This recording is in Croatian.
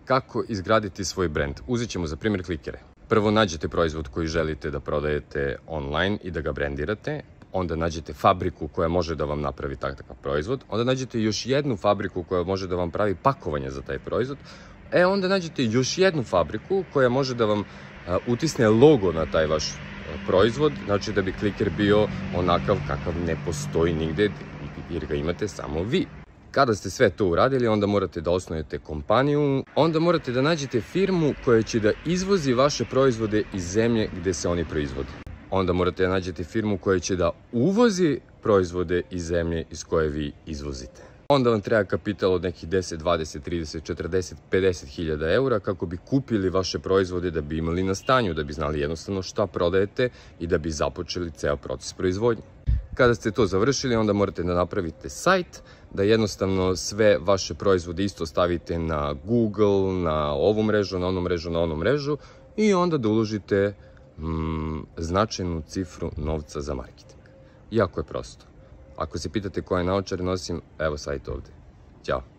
Kako izgraditi svoj brand? Uzet ćemo za primjer klikere. Prvo nađete proizvod koji želite da prodajete online i da ga brendirate. Onda nađete fabriku koja može da vam napravi takav proizvod. Onda nađete još jednu fabriku koja može da vam pravi pakovanje za taj proizvod. Onda nađete još jednu fabriku koja može da vam utisne logo na taj vaš proizvod. Znači da bi kliker bio onakav kakav ne postoji nigde jer ga imate samo vi. Kada ste sve to uradili, onda morate da osnujete kompaniju, onda morate da nađete firmu koja će da izvozi vaše proizvode iz zemlje gde se oni proizvode. Onda morate da nađete firmu koja će da uvozi proizvode iz zemlje iz koje vi izvozite. Onda vam treba kapital od nekih 10, 20, 30, 40, 50 hiljada eura kako bi kupili vaše proizvode, da bi imali na stanju, da bi znali jednostavno šta prodajete i da bi započeli ceo proces proizvodnje. Kada ste to završili, onda morate da napravite sajt, da jednostavno sve vaše proizvode isto stavite na Google, na ovu mrežu, na onu mrežu, na onu mrežu i onda da uložite značajnu cifru novca za marketing. Jako je prosto. Ako se pitate koje naočare nosim, evo sajt ovde. Ćao.